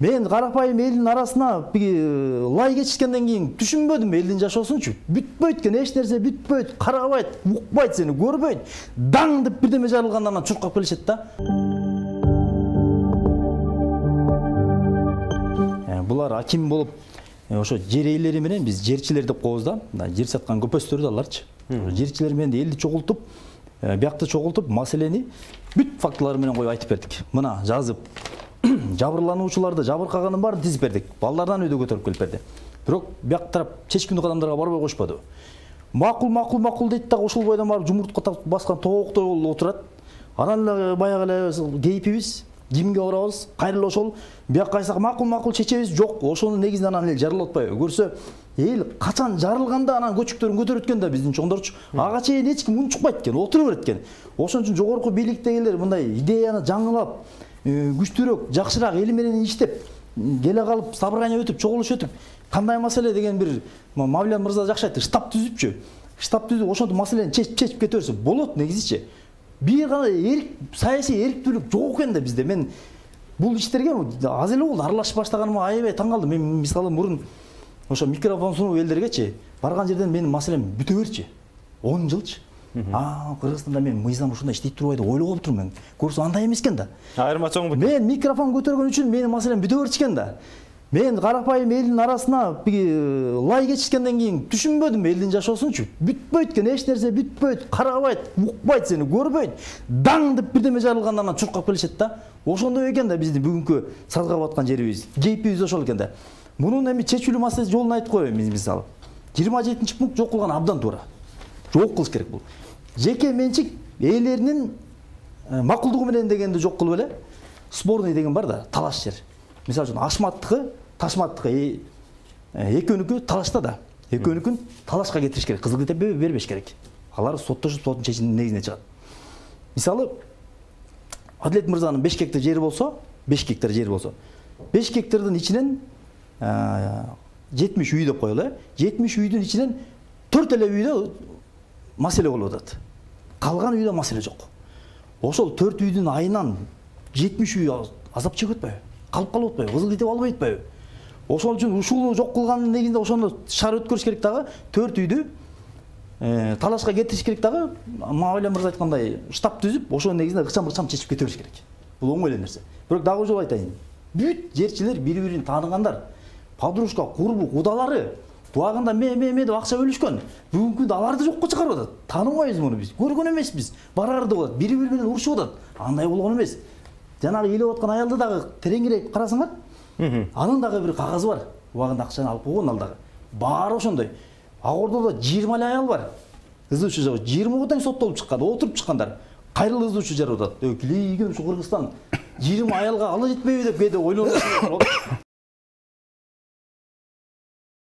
Мен карапайым элдин арасына лай кечишкенден кийин түшүнбөдүм элдин жашоосунчу. Бүтпөйт экен, эч нерсе бүтпөйт, карабайт, укпайт, сени көрбөйт. Даң деп бирдеме жарылгандан анан чуркап келишет да. Булар аким болуп, ошо жер ээлери менен биз жерчилер деп коебуз да. Жер саткан көпөстөр да аларчы. Жерчилер менен элди чогултуп, биякты чогултуп, маселени бүт фактылары менен коюп айтып бердик. Мына жазып жабырлануучуларды жабыркаганын баарын тизип бердик. Балдардан өйдө көтөрүп келип берди. Бирок бияк тарап чечкиндик адамдарга барбай коюшпаду. Макул дейт дагы ошол бойдон барып жумуртка баскан тооктой болуп отурат. Анан эле баягы эле кейпибиз, кимге барабыз, кайрылып ошол бияк кайсак макул чечебиз, жок, ошонун негизинен анан эл жарылып атпайбы. Көрсө, эл качан жарылганда анан көчүктөрүн көтөрөт экен да биздин чоңдорчу. Ага чейин эч ким унчукпайт экен, отура берет экен. Ошон үчүн жогорку бийликтегилер мындай идеяны жаңылап, күчтүүрөөк, жакшыраак эл менен иштеп, келе калып, собрание өтүп, чогулуш өтүп, кандай маселе деген бир Мавлен мырза жакшы айтты, штаб түзүпчү. Штаб түзүп, ошонтип маселени чечип кете берсе болот негизичи. Бир гана саясий эрктүүлүк жок экен да бизде. Мен бул иштерге аз эле болду аралашып баштаганыма аябай таң калдым. Мен мисалы мурун ошо микрофон сунуп элдергечи барган жерден менин маселем бүтө берчи. 10 жылчы. Кыргызстанда мен мыйзам ушундай иштейт турбайбы деп ойлоп отурмун мен. Көрсө андай эмес экен да. Айырма чоң бут. Мен микрофон көтөргөн үчүн менин маселем бүтө берчи экен да. Мен карапайым элдин арасына лай кечишкенден кийин түшүнбөдүм элдин жашоосунчу. Бүтпөйт экен, эч нерсе бүтпөйт, карабайт, укпайт, сени көрбөйт. Даң деп бирдеме жарылгандан анан чуркап келишет да. Ошондой экен да биздин бүгүнкү сазга баткан жерибиз. Кейпибиз ошол экен да. Мунун эми чечүүлүү маселеси жолун айтып коеюн мен мисалы. 27-пункт жок кылган абдан туура. Жок кылыш керек бул. Жеке менчик ээлеринин макулдугу менен дегенди жок кылып эле. Спорный деген бар да, талаш жер. Мисалы үчүн Ашматтыкы, Ташматтыкы экөөнүкү талашта да. Экөөнүкүн талашка кетириш керек, кызыл китеп бербеш керек. Алар соттошуп, соттун чечиминин негизине чыгат. Мисалы Адилет мырзанын 5 гектар жери болсо, 5 гектар жери болсо, 5 гектардын ичинен 70 үй деп коелу, 70 үйдүн ичинен 4 эле үйдө маселе болуп атат. Калган үйдө маселе жок. Ошол 4 үйдүн айынан 70 үй азап чегип атпайбы? Калып атпайбы? Кызыл китеп албай атпайбы? Ошол үчүн ушуну жок кылганын негизинде ошону шаар өткөрүш керек дагы, 4 үйдү талашка кетириш керек дагы, Мавлен мырза айткандай штаб түзүп, ошонун негизинде ыкчам чечип кете бериш керек. Бул оңой эле нерсе. Бирок дагы жол айтайын. Бүт жерчилер бири-бирин тааныгандар. Подружка, курбу, кудалары буагында ме деп акча бөлүшкөн. Бүгүнкү күндө аларды жокко чыгарып атат. Тааныбайбыз муну биз. Көргөн эмеспиз. Барарды болот, бири-бири менен урушуп атат. Андай болгон эмес. Жанагы ыйлап аткан аялды дагы тереңирээк карасаңар, анын дагы бир кагазы бар. Убагында акчаны алып койгон ал дагы. Баары ошондой. Агордодо 20 эле аял бар. Ызуучу жагы 20 тең соттолуп чыккан, отуруп чыккандар. Кайрылуу ызуучу жарып атат. Килейген ушу Кыргызстан 20 аялга ала жетпейби деп кээде ойлонуп